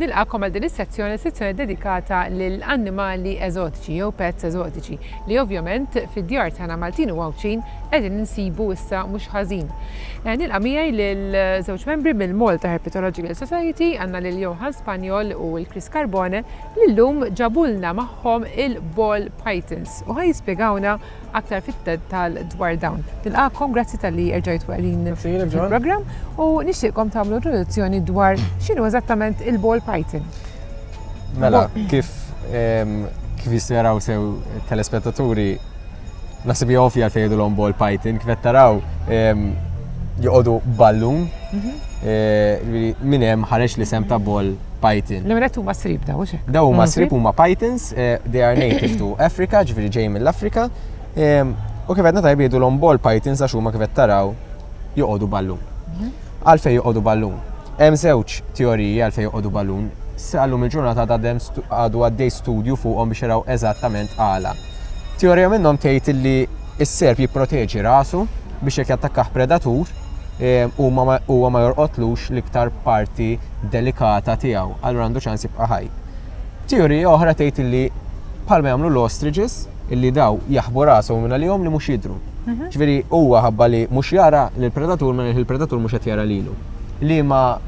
Nilqakom għal din is-sezzjoni, sezzjoni dedikata lil annimali eżotiċi jew pets eżotiċi li ovvjament fid-djar tagħna Maltin u Għawdxin qegħdin insibu issa mhux ħażin. Eh, nilqa' miegħi lil żewġ membri mill-Malta Herpetological Society, għandna lil Johan Spanjol u l-Chris Carbone li llum ġabulna magħhom il-ball pythons u ħaj jispjegawna aktar fit-dettal dwar dawn. Nilqakom, grazzi tal-li erġajtu qegħdin fil-programm u nixtieqkom tagħmlu introduzzjoni dwar x'inhu eżattament il-ball python. Mela, kif kif jistgħu jaraw sew telespettaturi naħseb hija ovvja għalfejn jgħidulhom ball python, kif qed taraw joqogħdu ballun mhm. eh, minn hemm ħareġ l-isem ta' ball python. Li minn huma srib daw, hux Daw huma srib huma pythons, eh, they are native to Africa, ġifieri ġej mill-Afrika. U kif għedna tajb jgħidulhom ball pythons għax huma kif qed taraw joqogħdu ballun. Mhm. Għalfejn joqogħdu ballun. Hemm żewġ teoriji għalfejn joqogħdu ballun. Sal-lum il-ġurnata għadu għaddej studju fuqhom biex jaraw eżattament għala. Teorija minnhom tgħid li s-serp jipproteġi rasu biex jekk jattakkah predatur huwa ma jorqotlux l-iktar parti delikata tiegħu, allura għandu ċans jibqa' ħaj. Teorija oħra tgħid li bħalma jagħmlu l-ostriches, illi daw jaħbu rashom minn għalihom li mhux jidhru. Mhm. Ġifieri huwa ħabba li mhux jara lill-predatur minn il-predatur mhux qed jara lilu. Li ma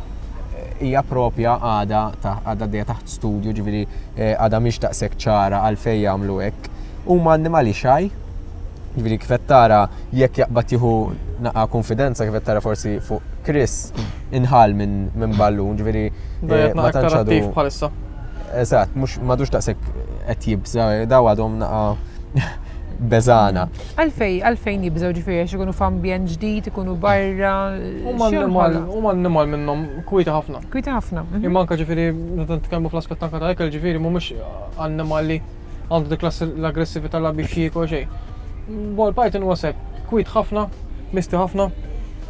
hija propja għada għadha għaddejja taħt studju, ġifieri eh, għadha mhix daqshekk ċara għalfejn jagħmlu hekk. Huma annimali xaj, Jiġifieri kif qed tara jekk jaqbad jieħu naqa' konfidenza kif qed tara forsi fuq Chris inħal minn min ballun, ġifieri eh, ma tantx għadu. bħalissa. Eżatt, mhux m'għadux daqshekk qed jibża, daw għadhom naqa' beżana. Għalfej, għalfejn jibżgħu ġifieri għax ikunu f'ambjent ġdid, ikunu barra. Huma annimal, huma annimal minnhom kwieti ħafna. Kwieti ħafna. Mhm. Imma anke ġifieri meta nitkellmu fl-aspett anke ta' ikel ġifieri mhumiex annimali għandu dik l-aggressività la biex jiekol xejn. Ball python huwa serp kwit ħafna, misti ħafna,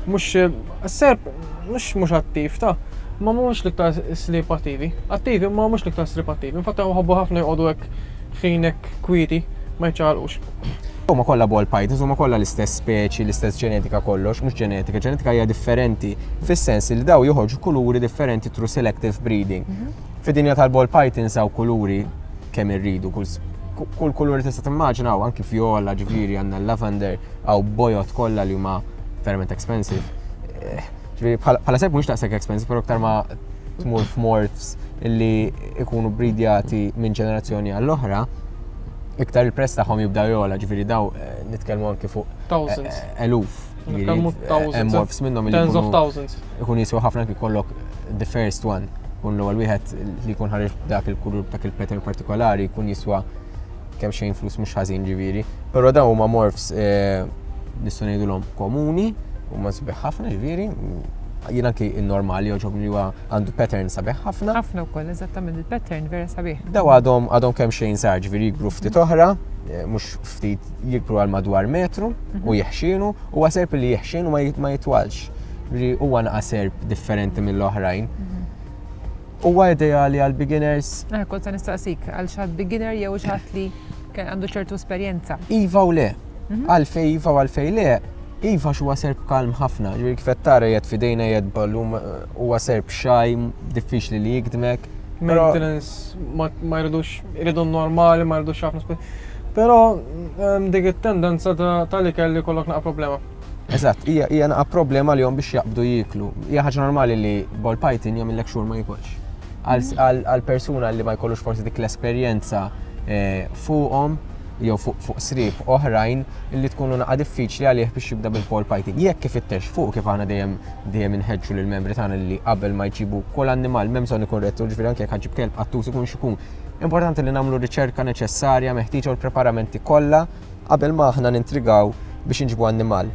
mhux serp mhux mhux attiv ta' ma mhux l-iktar slip attivi. Attivi ma mhux l-iktar slip attivi. Infatti ħobbu ħafna jqogħdu hekk ħin hekk kwieti ma jċaqalqux. Huma kollha ball pythons, huma kollha l-istess speċi, l-istess ġenetika kollox, mhux ġenetika, ġenetika hija differenti fis-sens li daw joħorġu kuluri differenti through selective breeding. Mhm. Fid-dinja tal-ball pythons hawn kuluri kemm irridu, kull kull kulur li tista' timmaġina hawn anki vjola, ġifieri għandna l-lavender, hawn bojot kollha li huma verament expensive. Eh, ġifieri bħala serp mhux daqshekk expensive, però iktar ma tmur f'morphs illi ikunu bridjati minn ġenerazzjoni għall-oħra, iktar il-prezz tagħhom jibda jola, ġifieri daw eh, nitkellmu anki fuq thousands. Eh, eluf. Nitkellmu thousands. Morphs minnhom tens of thousands. Ikun jiswa ħafna anki kollok the first one. Kun l-ewwel wieħed li jkun ħareġ dak il-kulur dak il-pattern partikolari jkun jiswa kemm xejn flus mhux ħażin ġifieri. Però dawn huma morphs eh, nistgħu ngħidulhom komuni, huma sbieħ ħafna ġifieri. Jien anki n-normali joġobni li huwa għandu pattern sabiħ ħafna. Ħafna wkoll, eżattament il-pattern vera sabiħ. Daw għadhom għadhom kemm xejn sar ġifieri jikbru ftit oħra, eh, mhux ftit jikbru għal madwar metru u mhm. jeħxienu, huwa serp li jeħxien u ma jitwalx. Ġifieri huwa naqa' serp differenti mill-oħrajn. Mhm. Huwa ideali għal beginners. Eh, kont se nistaqsik għal xi beginner jew xi li għandu ċertu esperjenza. Iva u le. Mhm. Għalfej iva u għalfej le, Iva huwa serp kalm ħafna, ġifieri kif qed tara jgħid f'idejna jgħid ballum huwa serp xaj, diffiċli li jikdmek. Maintenance ma jridux jridu normali, ma jridux ħafna. Però ehm, dik it-tendenza tal-ikel li kollok naqa' problema. Eżatt, hija hija naqa' problema li biex jaqbdu jieklu. Hija ħaġa normali li ball python jagħmillek xhur ma jikolx. Għal persuna li ma jkollux forsi dik l-esperjenza eh, fuqhom jew fuq sriep oħrajn li tkunu naqa' diffiċli għalih biex jibda bil-pole python. Jekk ifittex fuq kif aħna dejjem dejjem inħeġġu lill-membri tagħna li qabel ma jġibu kull annimal m'hemm bżonn ikun rettur, ġifieri anke jekk ħaġib kelb qattus ikun x'ikun. Importanti li nagħmlu riċerka neċessarja meħtieġa u l-preparamenti kollha qabel ma aħna nintrigaw biex inġibu annimal.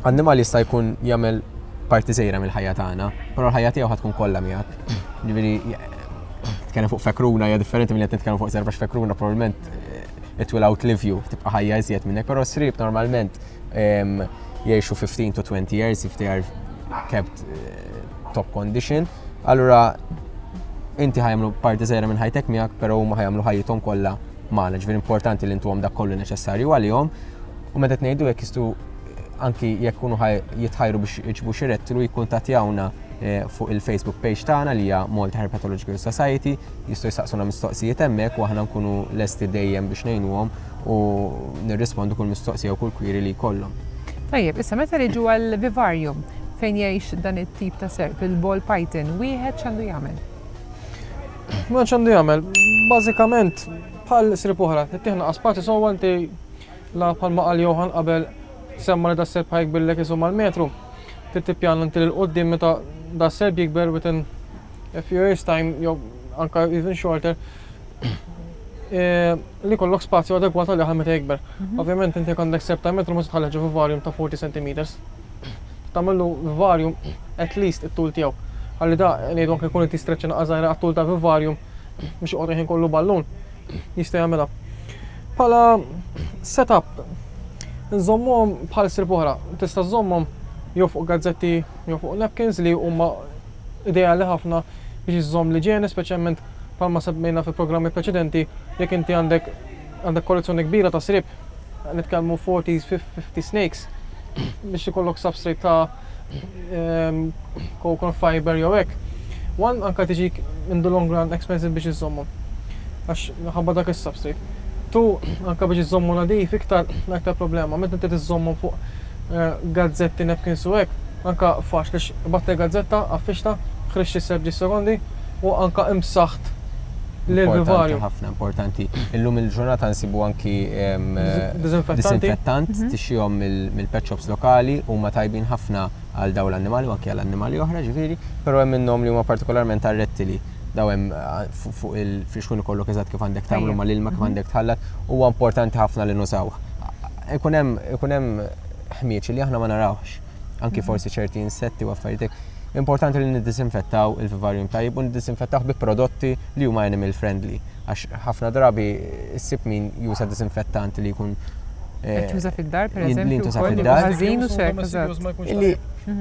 Annimal jista' jkun jagħmel parti żgħira mill-ħajja tagħna, però l-ħajja tiegħu ħad tkun kollha miegħek. Ġifieri tkellem fuq fekruna hija differenti milli qed nitkellmu fuq serva fekruna probabbilment eh, it will outlive you, tibqa' ħajja iżjed minnek, però srib normalment ehm, jgħixu 15 to 20 years if they are kept eh, top condition. Allura inti ħajamlu parti żgħira minn ħajtek miegħek, però huma ħajamlu ħajjithom kollha magħna. Ġifieri importanti li ntuhom dak kollu neċessarju għalihom. U meta ngħidu jekk jistgħu anki jekk kunu jitħajru biex iġbu xi rettilu jikkuntattjawna. fuq il-Facebook page tagħna li hija Malta Herpetological Society, jistgħu jsaqsuna mistoqsijiet hemmhekk u aħna nkunu lesti dejjem biex ngħinuhom u nirrispondu kull mistoqsija u kull query li jkollhom. Tajjeb, issa meta niġu għal vivarium fejn jgħix dan it-tip ta' serp, il-ball python, wieħed x'għandu jagħmel? Ma x'għandu jagħmel? Bażikament bħal srib oħra, tittieħ naqas spazju sewwa inti la bħalma qal Johan qabel semma li das-serp ħa jikbirlek isu mal-metru. Trid tippjana inti 'l quddiem meta das-serp jikber within a few years time jew anka even shorter li jkollok spazju adegwat għalih għal meta jikber. Ovvjament inti jekk għandek serp ta' metru ma tista' tħallih ġo vivarium ta' 40 centimeters. Tagħmillu vivarium at least it-tul tiegħu. Ħalli da ngħidu anke jkun qed jistreċċa naqra żgħira għat-tul ta' vivarium biex joqgħod il-ħin kollu ballun jista' jagħmilha. Bħala setup nżommuhom bħal srib oħra. Tista' żżommhom jew fuq gazzetti jew fuq napkins li huma ideali ħafna biex iżżomm l-iġene, speċjalment bħalma semmejna fi programmi preċedenti, jekk inti għandek għandek kollezzjoni kbira ta' srib, nitkellmu 40, 50 snakes, biex ikollok substrate ta' coconut fiber jew hekk. One, anka tiġik in the long run expensive biex iżżommhom. Għax ħabba dak is-substrate. Two, anka biex iżżommu nadif iktar aktar problema. Meta inti tiżżommhom fuq gazzetti, napkins u hekk, anka faċli qbadt il-gazzetta, għaffixtha, ħriġt is-serp ġie sekondi u anka imsaħt lill-vivarju. Ħafna importanti. Illum il-ġurnata nsibu anki disinfettant tixtrihom mill-pet shops lokali huma tajbin ħafna għal dawn l-annimali u anki għal annimali oħra ġifieri, però hemm minnhom li huma partikolarment għar-rettili. Daw hemm fuq il-frixkun ikollok eżatt kif għandek tagħmlu mal-ilma kif għandek tħallat, huwa importanti ħafna li nużawh. Ikun hemm ikun hemm ħmieġ li aħna ma narawhx, anki forsi ċerti insetti u affarijiet hekk. Importanti li niddisinfettaw il-vivarium tajjeb u niddisinfettawh bi prodotti li huma animal friendly għax ħafna drabi ssib min juża disinfettant li jkun Qed juża fid-dar pereżempju. Li jintuża fid-dar. Ħażin u xek, eżatt. Illi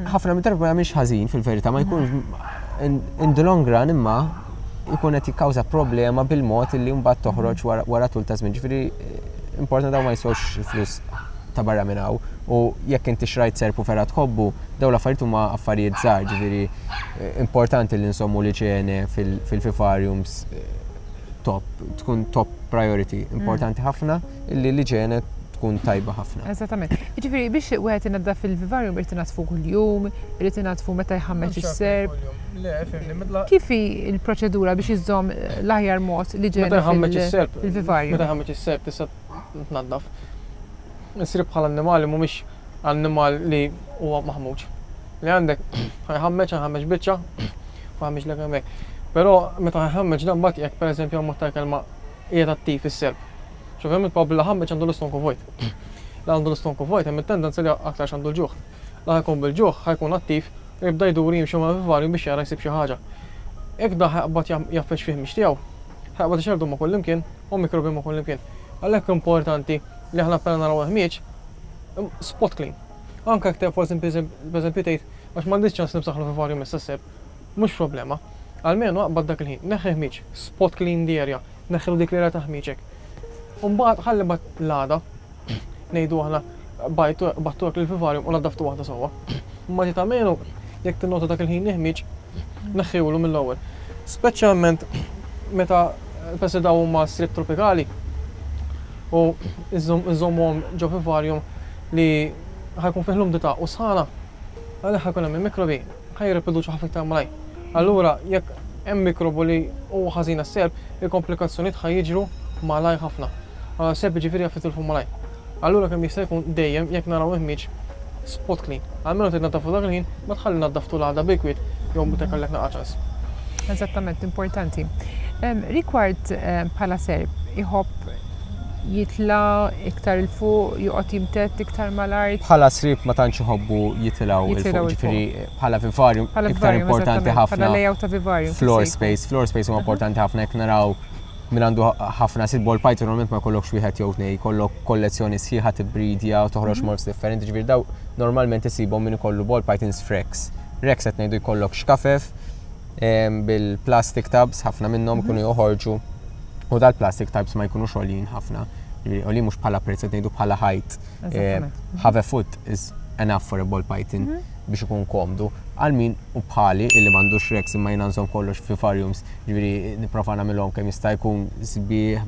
ħafna mid-darba ma jagħmilx ħażin fil-verità ma jkunx in the long run imma jkun qed jikkawża problema bil-mod illi mbagħad toħroġ wara tul ta' żmien. Ġifieri importanti dawn ma jiswewx flus ta' barra minn hawn u jekk inti xrajt serp u vera tħobbu, dawn l-affarijiet huma affarijiet żgħar, ġifieri importanti li nsommu l-iġene fil-vivariums top, tkun top priority, importanti ħafna illi l-iġene tkun tajba ħafna. Eżattament. Jiġifieri biex wieħed inaddaf il-vivarium irid inaddfu kuljum, irid inaddfu meta jħammeġ is-serp. Le, fimni, mitla. Kif hi l-proċedura biex iżżomm l-aħjar mod l-iġene fil-vivarium? Meta jħammeġ is-serp tista' tnaddaf. Is-sriep bħala annimali mhumiex annimal li huwa maħmuġ. Li għandek ħajħammeġ, ħajħammeġ biċċa, u ħammeġ lek hemmhekk. Però meta ħajħammeġ dan mbagħad jekk pereżempju ammont ta' kelma qiegħed attiv is-serp. X'ovvjament probabbli la ħammeġ għandu l-istonku vojt. La għandu l-istonku vojt hemm it-tendenza li aktarx għandu l-ġuħ. La ħajkun bil-ġuħ ħajkun attiv u jibda jdur jimxi mal-vivarium biex jara jsib xi ħaġa. Jekk dan ħajqbad jgħaffeġ fih mhix tiegħu, ħajqbad ixerrdu ma' kullimkien u mikrobi ma' kullimkien. Għalhekk importanti li aħna appena naraw il-ħmieġ, spot clean. Anke jekk forsi pereżempju tgħid għax m'għandix ċans nimsaħ l-vivarium issa s-seb, mhux problema. Almenu aqbad dak il-ħin, neħħi ħmieġ, spot clean the area, neħħilu dik l-area ta' ħmieġ hekk. U mbagħad ħalli mbagħad l-għada, ngħidu aħna bajtu battu hekk lill-vivarium u naddaftu waħda sewwa. Imma tgħid almenu jekk tinnota dak il-ħin li ħmieġ, neħħiulu mill-ewwel. Speċjalment meta peress li dawn huma sriep tropikali u nżommuhom ġo vivarium li ħa jkun fih l-umdità u sħana, għalhekk ħa jkun hemm il-mikrobi ħa jirriproduċu ħafna iktar malajr. Allura jekk hemm mikrobu li huwa ħażin għas-serp, il-komplikazzjonijiet ħa jiġru malajr ħafna. Serp jiġifieri jaf jitilfu malajr. Allura kemm jista' jkun dejjem jekk naraw il-ħmieġ spot clean. Almenu trid tnaddafhu dak il-ħin, ma tħalli naddaftu l-għada bil-kwiet jew meta jkollek naqa' ċans. Eżattament, importanti. Rigward bħala serp, iħobb jitla' iktar 'il fuq, joqgħod jimtedd iktar mal-art? Bħala sriep ma tantx iħobbu jitilgħu 'il fuq, jiġifieri bħala vivarium iktar importanti ħafna. Bħala layout ta' vivarium. Floor space, floor space huwa importanti ħafna jekk naraw min għandu ħafna sit ball python normalment ma jkollokx wieħed jew tnej, jkollok kollezzjoni sħiħa tibbridja u toħroġ mhm. morphs differenti, ġifieri daw normalment isibhom min ikollu ball pythons f'racks. Racks qed ngħidu jkollok xkafef bil-plastic tubs, ħafna minnhom mhm. ikunu joħorġu u dal-plastic tubs ma jkunux għoljin ħafna. Għoljin mhux bħala prezz qed ngħidu bħala height. Half a foot is enough for a ball python mhm. biex ikun komdu. Għal min hu bħali illi m'għandux racks imma jiena nżomm kollox f'vivariums, ġifieri nipprova nagħmilhom kemm jista' jkun sbieħ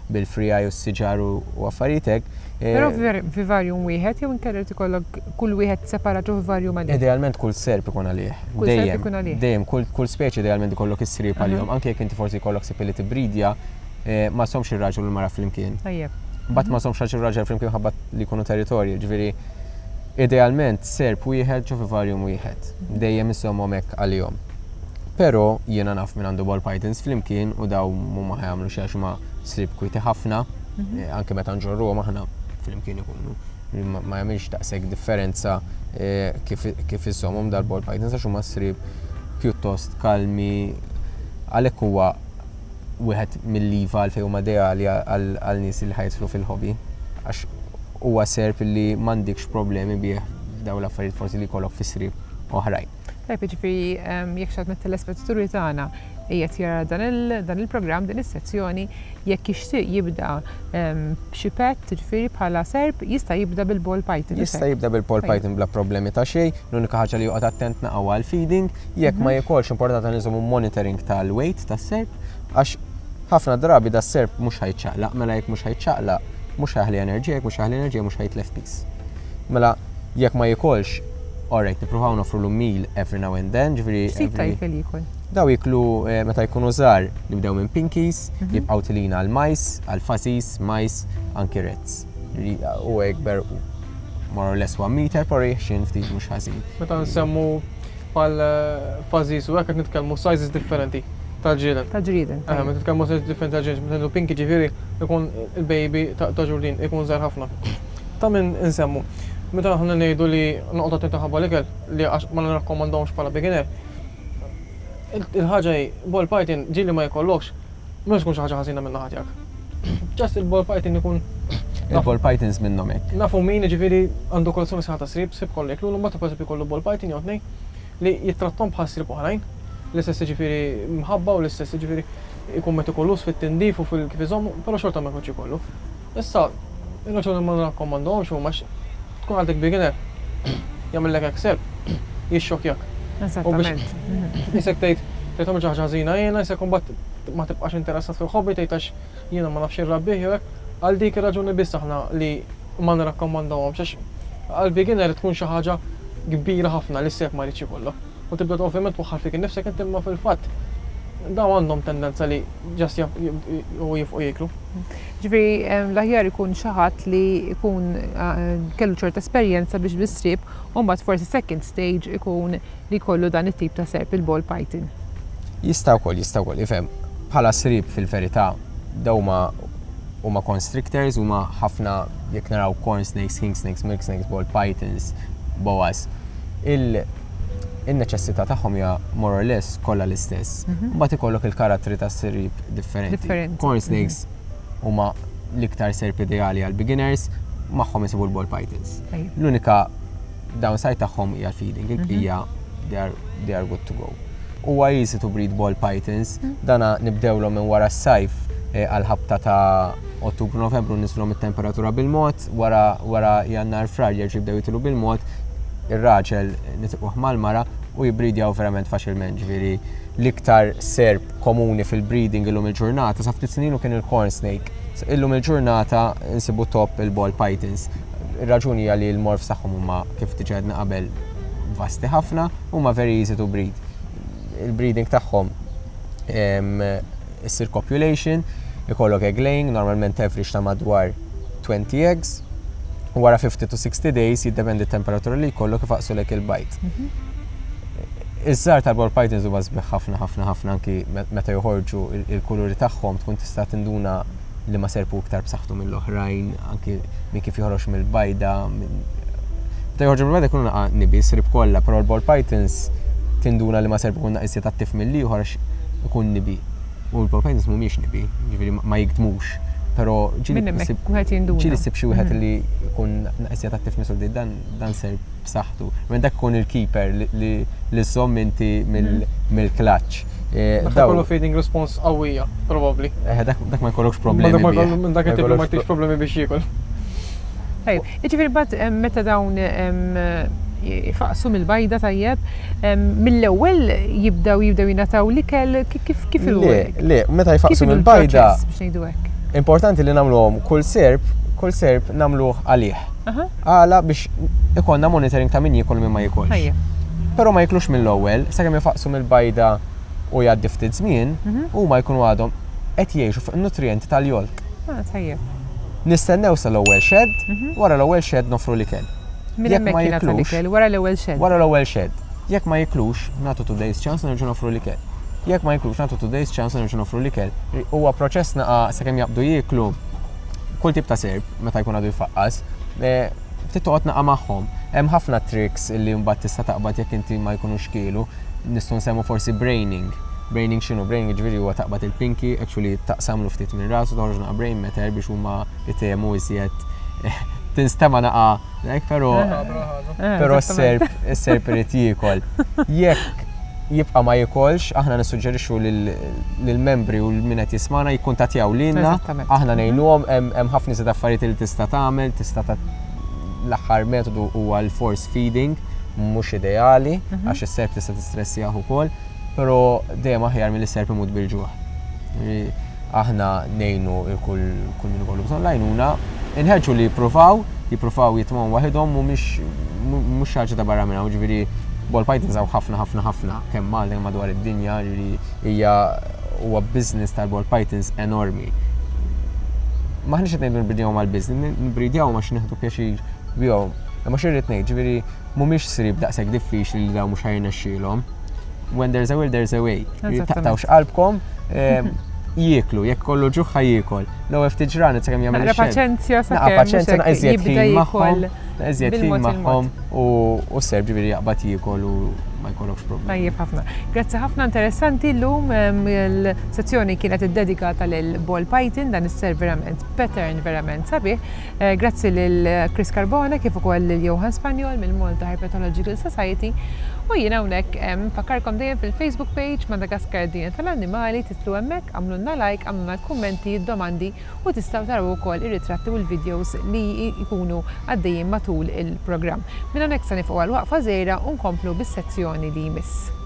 bil-free eye u s-siġar u affarijiet hekk. Però vivarium wieħed jew inkella jrid ikollok kull wieħed separat ġo vivarium għalih? Idealment kull serp ikun għalih. Kull serp ikun għalih. Dejjem, kull speċi idealment ikollok is-sriep għalihom, anke jekk inti forsi jkollok sriep li tibbridja, ma żommx ir-raġel u l-mara flimkien. Tajjeb. Mbagħad ma żommx raġel u raġel flimkien ħabba li jkunu territorji, ġifieri Idealment serp wieħed ġo vivarium wieħed. Dejjem iżommhom hekk għalihom. Però jiena naf min għandu ball pythons flimkien u daw mhuma ħa jagħmlu xi għax huma sriep kwieti ħafna, eh, anke meta nġorruhom aħna flimkien ikunu. Ma jagħmilx daqshekk differenza eh, kif, kif iżommhom dal-ball pythons għax huma sriep pjuttost kalmi għalhekk huwa wieħed mill-iva għalfejn huma ideali għal nies li ħa jidħlu fil-hobby. Għax huwa serp li m'għandikx problemi bih f'dawn l-affarijiet forsi li jkollok fi sriep oħrajn. Tajjeb, jiġifieri jekk xi ħadd mit-telespettaturi tagħna qiegħed jara dan il-programm, din is-sezzjoni, jekk jixtieq jibda b'xi pet, jiġifieri bħala serp, jista' jibda bil-ball python. Jista' jibda bil-ball python bla problemi ta' xejn, l-unika ħaġa li joqgħod attent naqa' huwa l-feeding, jekk ma jikolx importanti nżommu monitoring tal-weight tas-serp għax ħafna drabi da serp mhux ħa jiċċaqlaq, mela jekk mhux ħa jiċċaqlaq, mhux ħa jaħli enerġija, jekk mhux ħa jaħli enerġija mhux ħa jitlef piż. Mela jekk ma jikolx, alright, nippruvaw noffrulu meal every now and then, ġifieri. X'tip ta' ikel jiekol? Daw jiklu eh, meta jkunu żgħar nibdew minn pinkies, mhm. jibqgħu tilina għal mice, għal fuzzies, mice, anki rats. U ikber more or less 1 meter, pero jħxin ftit mhux ħażin. Meta nsemmu bħal eh, fuzzies u hekk qed nitkellmu sizes differenti tal-ġrieden. Tal-ġrieden. Eh, meta nitkellmu sizes differenti tal-ġrieden, meta ngħidu pinky ġifieri ikun il-baby ta' ġurdin ikun żgħar ħafna. Ta' min insemmu. Meta aħna ngħidu li noqgħod attenti ħabba l-ikel li għax ma nirrakkomandahomx bħala beginner. Il-ħaġa hi, ball python ġieli ma jkollokx, mhux tkun xi ħaġa ħażina minn naħa tiegħek. Just il-ball python ikun Il-ball pythons minnhom hekk. Nafu min jiġifieri għandu kollezzjoni sħiħa ta' sriep, sriep kollha jiklu, mbagħad pereżempju jkollu ball python jew tnejn li jittrattom bħal sriep oħrajn, l-istess jiġifieri mħabba u l-istess jiġifieri ikun metikoluż fit-tindif u fil-kif iżommu, però xorta ma jkunx ikollu. Issa, ir-raġuni ma nrakkomandahomx huma għax tkun għadek beginner, jagħmillek hekk serp, jixxokjak. Eżattament. Isek tgħid tgħid xi ħaġa ħażina jiena, isek imbagħad ma tibqax interessat fil-hobby tgħid għax jiena ma nafx irrabbih jew hekk. Għal dik ir-raġuni biss aħna li ma nirrakkomandawhomx għax għal beginner tkun xi ħaġa kbira ħafna li s-serp ma jridx ikollok. U tibda ovvjament twaħħal fik innifsek inti imma fil-fatt dawn għandhom tendenza li just u jifqu jieklu. Ġifieri l-aħjar ikun xi ħadd li jkun kellu ċerta esperjenza biex bis-sriep u mbagħad forsi second stage ikun li jkollu dan it-tip ta' serp il-ball python. Jista' wkoll, jista' wkoll, ifhem, bħala sriep fil-verità dawn huma huma constrictors, huma ħafna jekk naraw corn snakes, king snakes, milk snakes, ball pythons, boas. Il in-neċessità tagħhom hija more or less kollha l-istess. Mhm. Mbagħad ikollok il-karattri tas-sriep differenti. Differenti. Corn snakes mhm. huma l-iktar serp ideali għal beginners, magħhom isibu l-ball pythons. L-unika downside tagħhom hija l-feeding, il-bqija they are, they are good to go. Huwa easy to breed ball pythons, dana nibdewlhom minn wara s-sajf eh, għal-ħabta ta' Ottubru Novembru niżlhom it-temperatura bil-mod, wara wara Jannar Frar jerġgħu jibdew jitilu bil-mod, ir-raġel nitiquh mal-mara u jibridjaw verament faċilment, ġifieri l-iktar serp komuni fil-breeding illum il-ġurnata sa ftit snin u kien il-corn snake. Illum il-ġurnata nsibu top il-ball pythons. Ir-raġuni hija li l-morphs tagħhom huma kif diġà għedna qabel vasti ħafna, huma very easy to breed. Il-breeding tagħhom issir copulation, ikollok egg laying, normalment average ta' madwar 20 eggs, u wara 50 to 60 days jiddependi t-temperatura li jkollok ifaqsulek il-bajd. Mhm. Iż-żgħar tal-ball pythons huma sbieħ ħafna ħafna ħafna anki meta joħorġu il-kuluri tagħhom tkun tista' tinduna li ma serpu iktar b'saħħtu mill-oħrajn, anki minn kif joħroġ mill-bajda. Meta joħorġu mill-bajda jkunu naqa' nibi, srib kollha, però l-ball pythons tinduna li ma serpu jkun naqis attiv mill-ieħor għax ikun nibi. U l-ball pythons mhumiex nibi, ġifieri ma jikdmux. Però ġieli ssib xi wieħed mhm. li jkun naqis attiv mill dan dan serp b'saħħtu. Minn dak ikun il-keeper li żżomm inti mill-clutch. Eh, dak ikollu feeding response qawwija, probabbli. Eh, dak ma jkollokx problemi. Minn dak it-tip ma jtix problemi biex jiekol. Tajjeb, jiġifieri mbagħad meta dawn Ifaqsu mill-bajda tajjeb, mill-ewwel jibdew jibdew jingħataw l-ikel kif kif Le, le, meta jfaqsu mill-bajda. Biex ngħidu hekk. Importanti li nagħmluhom kull serp, kull serp nagħmluh għalih. Għala biex ikollna monitoring ta' min jiekol min ma jikolx. Però ma jiklux mill-ewwel, sakemm ifaqsu mill-bajda u jgħaddi ftit żmien, mhm. huma jkunu għadhom qed jgħixu fuq in-nutrijenti tal-jolk. Ah, tajjeb. Nistennew sal-ewwel shed, mhm. wara l-ewwel shed nofru l-ikel. Minn hemmhekk jingħata l-ikel, wara l-ewwel shed. Wara l-ewwel shed. Jekk ma jiklux, nagħtu two days chance u nerġgħu noffru l-ikel. Jekk ma jiklux, nagħtu two days chance u nerġgħu noffru l-ikel. Huwa proċess naqa' sakemm jaqbdu jieklu kull tip ta' serp meta jkun għadu jfaqqas, eh, trid toqgħod naqa' magħhom. Hemm ħafna tricks li mbagħad tista' taqbad jekk inti ma jkunux kielu. Nistgħu nsemmu forsi braining. Braining x'inhu? Braining jiġifieri huwa taqbad il-pinky, actually taqsamlu ftit minn rasu, toħroġ naqa' brain matter biex huma jtehmu iżjed tinstema' naqa' hekk, però però s-serp is-serp irid jiekol. Jekk jibqa' ma jikolx, aħna nissuġġerixxu lill-membri u min qed jismagħna jikkuntattjaw lilna, aħna ngħinuhom hemm ħafna iżjed affarijiet li tista' tagħmel, tista' l-aħħar metodu huwa l-force feeding, mhux ideali mhm. għax is-serp tista' tistressjah ukoll, però dejjem aħjar milli s-serp imut bil-ġuħ. Aħna ngħinu 'l kull kull min ikollu bżonn l-għajnuna, inħeġġu li jippruvaw, jippruvaw jitmgħu waħidhom mhumiex mhux xi ħaġa ta' barra minn hawn, ġifieri ball pythons hawn ħafna ħafna ħafna kemm Malta kemm madwar id-dinja, ġifieri hija huwa business tal-ball pythons enormi. M'aħniex qed ngħidu nbridjahom għall-business, nbridjahom għax nieħdu pjaċir bihom. Imma xi rrid ngħid, ġifieri mhumiex sriep daqshekk diffiċli li dawn mhux ħa jirnexxielhom. When there's a will, there's a way. Taqtawx qalbkom, ehm, jieklu, jekk kollu ġuħ ħa jiekol. L-ewwel ftit ġranet sakemm jagħmel Naqra paċenzja sakemm. Paċenzja naqra iżjed ħin magħhom, iżjed ħin magħhom u s-serb ġifieri jaqbad jiekol u ma jkollokx problemi. Tajjeb ħafna. Grazzi ħafna interessanti llum ehm, il-sezzjoni kienet iddedikata lil Ball Python dan is-serb verament pattern verament sabiħ. Eh, grazzi lil Chris Carbone kif ukoll lil Johan Spanjol mill-Malta Herpetological Society u jien hawnhekk nfakkarkom dejjem fil-Facebook page Madagascar Dinja tal-Annimali titlu hemmhekk għamlulna like, għamlulna l-kummenti, d-domandi u tistgħu taraw ukoll ir-ritratti u l-videos li jkunu għaddejjin matul il-programm. Minn hawnhekk se nifqu għal waqfa żgħira u nkomplu bis-sezzjoni li jmiss.